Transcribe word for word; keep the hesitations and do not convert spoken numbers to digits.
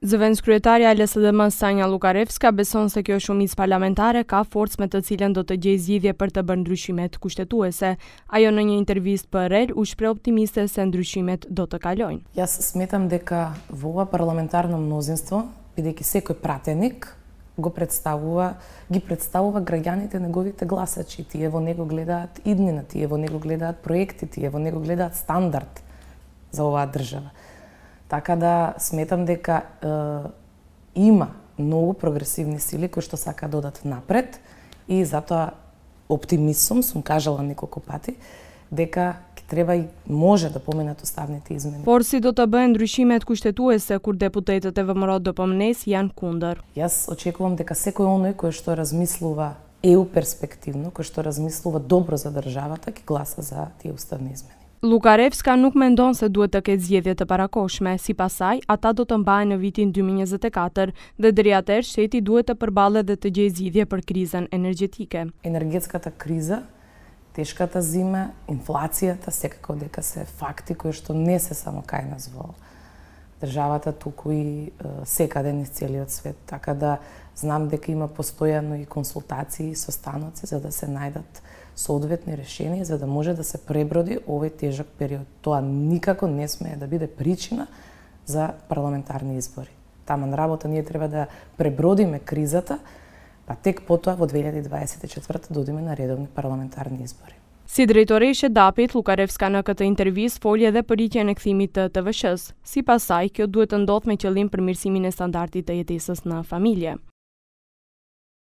Zëvendëskryetaria e L S D M Sanja Lukarevska beson se kjo shumicë parlamentare ka forcë me të cilën do të gjejë zgjidhje për të bërë ndryshimet kushtetuese. Ajo në një intervistë për R E L u shpreh optimiste se ndryshimet do të kalojnë. Јас сметам дека во ова парламентарно мнозинство, бидејќи секој пратеник го представува, ги представува граѓаните неговите гласачи. Тие во него гледаат иднина, тие во него гледаат проекти, тие во него гледаат стандард за оваа држава. Така да сметам дека е, има многу прогресивни сили кои што сака да одат напред и затоа оптимист сум, сум кажала неколку пати, дека треба и може да поменат уставните измени. Por si do të bëhen ndryshimet kushtetuese kur deputetët e V M R-it do pomnes janë kundër. Јас очекувам дека секој оној кој што размислува еу перспективно, кој што размислува добро за државата, ќе гласа за тие уставни измени. Lukarevska nuk mendon se duhet të ketë zgjedhje të parakoshme, sipas saj, ata do të mbahen në vitin dy mijë e njëzet e katër dhe deri atëherë shteti duhet të përballet dhe të gjejë zgjidhje për krizën energjetike. Енергетската криза, тешката зима, инфлацијата секако дека се факти кои што не се само кај нас во државата, туку и секаде низ целиот свет. Така да знам дека има постојано и консултации со станоци за да се најдат соодветни решенија за да може да се преброди овој тежок период. Тоа никако не смее да биде причина за парламентарни избори. Таман работа ние треба да пребродиме кризата, па тек потоа во две илјади дваесет и четврта да одиме на редовни парламентарни избори. Si drejtoreshe dapit, Lukarevska në këtë intervistë foli edhe për rritjen e kthimit të T V S-s. Sipas saj, kjo duhet të ndodhë me qëllim përmirësimin e standardit të jetesës në familje.